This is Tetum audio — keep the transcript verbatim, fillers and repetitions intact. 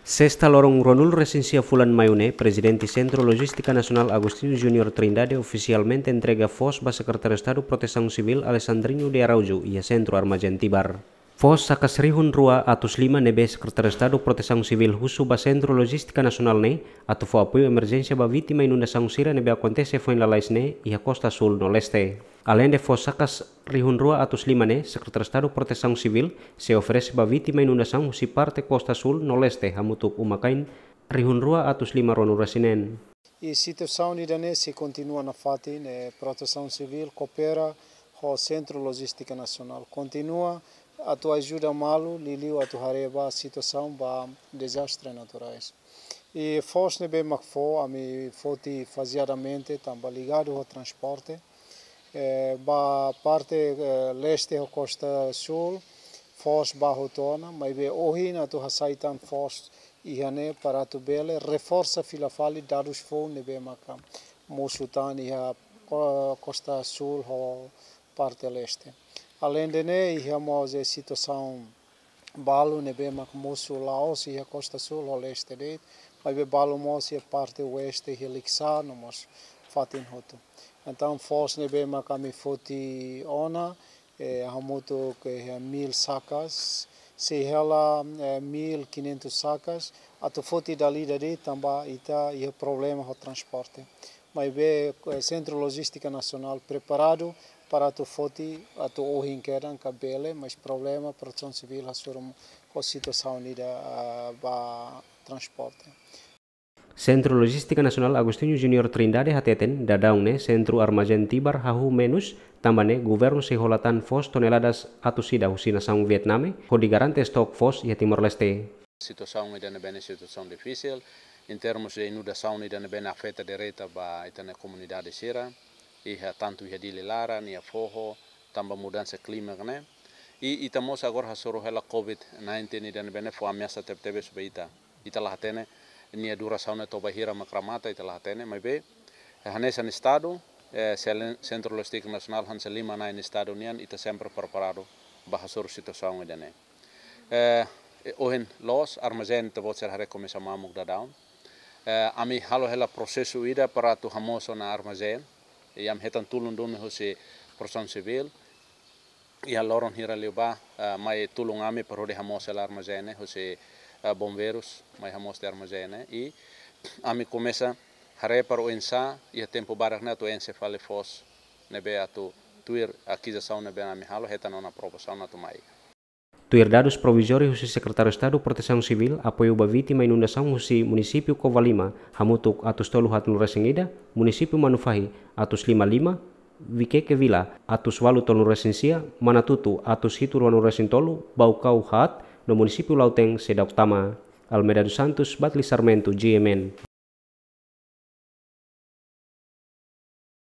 Sesta loron ruanulu-resin-sia fulan Maiu ne'e, Prezidente Sentru Lojístika Nasionál Agostinho Júnior Trindade ofisialmente entrega foos ba Sekretáriu Estadu Protesaun Sivíl Alexandrino de Araújo iha Sentru Armazén Tibar. Foos sakas rihun rua atus lima ne'ebé Sekretáriu Estadu Protesaun Sivíl husu ba Sentru Lojístika Nasionál ne'e atu fó apoiu emerjénsia ba vítima inundasaun sira ne'ebé akontese foin lalais ne'e iha Kosta Súl no Leste. Aleinde foos sakas rihun rua atus lima ne'e, Sekretáriu Estadu Protesaun Sivíl sei oferese ba vítima inundasaun husi parte Kosta Súl no Leste hamutuk uma-kain rihun rua atus lima ruanulu-resin-neen. I situasaun ida-ne'e sei kontinua nafatin, eh, Protesaun Sivíl koopera ho Sentru Lojístika Nasionál. Kontinua atu ajuda malu, liuliu atu haree ba situasaun ba dezastre naturais. I foos ne'ebé mak fó, ami foti fazeadamente, tanba ligadu ho transporte. Eh, ba parte, eh, Leste ho Kosta Súl, foos bá hotu ona, maibé ohin atu hasai tan foos iha ne'e para atu bele reforsa fila fali dadus foun ne'ebé maka mosu tan iha, eh, Kosta Súl ho parte Leste. Aleinde ne'e, iha mós, eh, situasaun balu ne'ebé mak mosu la'ós iha Kosta Súl ho Leste de'it, maibé balu mós iha parte Oeste, iha Likisá no mós fatin hotu. Entaun, foos ne'ebé mak ami foti ona, eh, hamutuk iha mil sakas, sei hela, eh, mil quinhentos sakas, atu foti dala ida de'it tanba ita iha problema ho transporte. Maibé, eh, Sentru Lojístika Nasionál preparadu para atu foti, atu ohin kedan ka bele, mas problema Protesaun Sivíl hasoru ho situasaun ida, ah, ba transporte. Sentru Lojístika Nasionál Agostinho Júnior Trindade hateten, daudaun ne'e Sentru Armazén Tibar hahú menus, tanba ne'e governu sei hola tan foos toneladas atus ida husi nasaun Vietname, hodi garante estok foos iha Timor-Leste. Situasaun ida ne'ebé ne'e situasaun difisil, em termos de inundasaun ida ne'ebé ne'e afeta direta ba ita-nia komunidade sira, iha tantu iha Dili laran, iha foho, tanba mudansa klima ne'e. I ita mós agora hasoru hela covid nineteen ida ne'ebé ne'e fó ameasa tebetebes ba ita. Ita la hatene nia durasaun ne'e to'o bainhira mak remata, ita la hatene, maibé hanesan Estadu, eh, selen-, Sentru Lojístika Nasionál hanesan liman-na'in Estadu nian, ita sempre preparadu ba hasoru situasaun ida ne'e. Eh, ohin loos, armazén ita-boot sira haree komesa mamuk daudaun. Eh, ami halo hela prosesu ida para atu hamoos ona armazén. I ami hetan tulun duni husi Protesaun Sivíl. Iha loron hira liubá, eh, mai tulun ami para hodi hamoos hela armazén ne'e, husi, eh, bombeirus, mai hamoos tiha armazén ne'e. I ami komesa haree para oinsá, iha tempu badak ne'e atu enxe fali foos ne'ebé atu tuir akizasaun ne'ebé ami halo, hetan ona aprovasaun atu mai. Tuir dadus provizóriu husi Sekretáriu Estadu Protesaun Sivíl, apoiu ba vítima inundasaun husi munisípiu Covalima, hamutuk atus tolu haatnulu-resin-ida, munisípiu Manufahi, atus lima lima, Viqueque Vila, atus ualu tolunulu-resin-sia, Manatuto, atus hitu ruanulu-resin-tolu, Baucau haat, no munisípiu Lautém seidauk tama. Almeida dos Santos, Batli Sarmento, G M N.